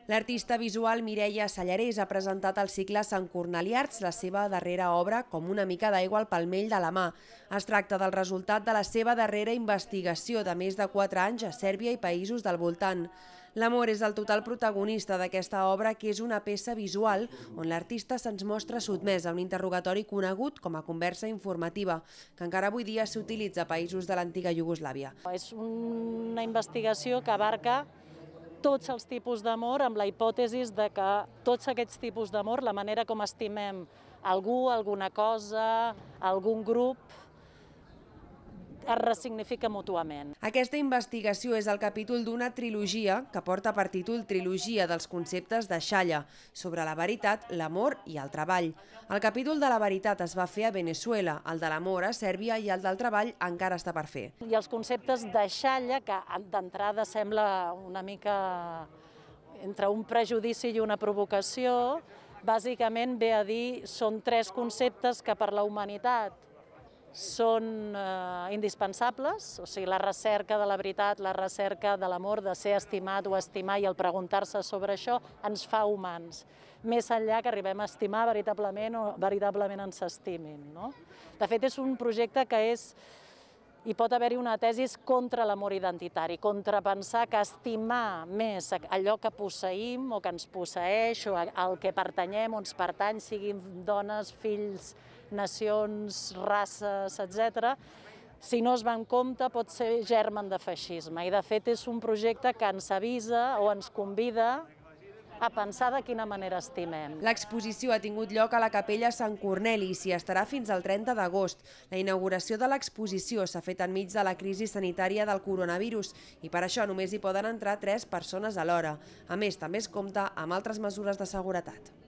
L'artista visual Mireia Sallarès ha presentat al cicle Sant Cornelí Arts la seva darrera obra Com una mica d'aigua al palmell de la mà. Es tracta del resultat de la seva darrera investigació de més de 4 anys a Sèrbia i països del voltant. L'amor és el total protagonista d'aquesta obra, que és una peça visual on l'artista se'ns mostra sotmès a un interrogatori conegut com a conversa informativa, que encara avui dia s'utilitza a països de l'antiga Iugoslàvia. És una investigació que abarca tots els tipus d'amor, amb la hipòtesi de que tots aquests tipus d'amor, la manera com estimem algú, alguna cosa, algun grup, es ressignifica mútuament. Aquesta investigació és el capítol d'una trilogia que porta per títol Trilogia dels conceptes de Xalla, sobre la veritat, l'amor i el treball. El capítol de la veritat es va fer a Veneçuela, el de l'amor a Sèrbia i el del treball encara està per fer. I els conceptes de Xalla, que d'entrada sembla una mica entre un prejudici i una provocació, bàsicament ve a dir són 3 conceptes que per la humanitat són indispensables, o sigui, la recerca de la veritat, la recerca de l'amor, de ser estimat o estimar i el preguntar-se sobre això ens fa humans, més enllà que arribem a estimar veritablement o veritablement ens estimin. De fet, és un projecte que hi pot haver-hi una tesi contra l'amor identitari, contra pensar que estimar més allò que posseïm o que ens posseeix o al que pertanyem o ens pertany, siguin dones, fills, nacions, races, etc., si no es va en compte pot ser germen de feixisme. I de fet és un projecte que ens avisa o ens convida a pensar de quina manera estimem. L'exposició ha tingut lloc a la Capella Sant Corneli i s'hi estarà fins al 30 d'agost. La inauguració de l'exposició s'ha fet enmig de la crisi sanitària del coronavirus i per això només hi poden entrar 3 persones alhora. A més, també es compta amb altres mesures de seguretat.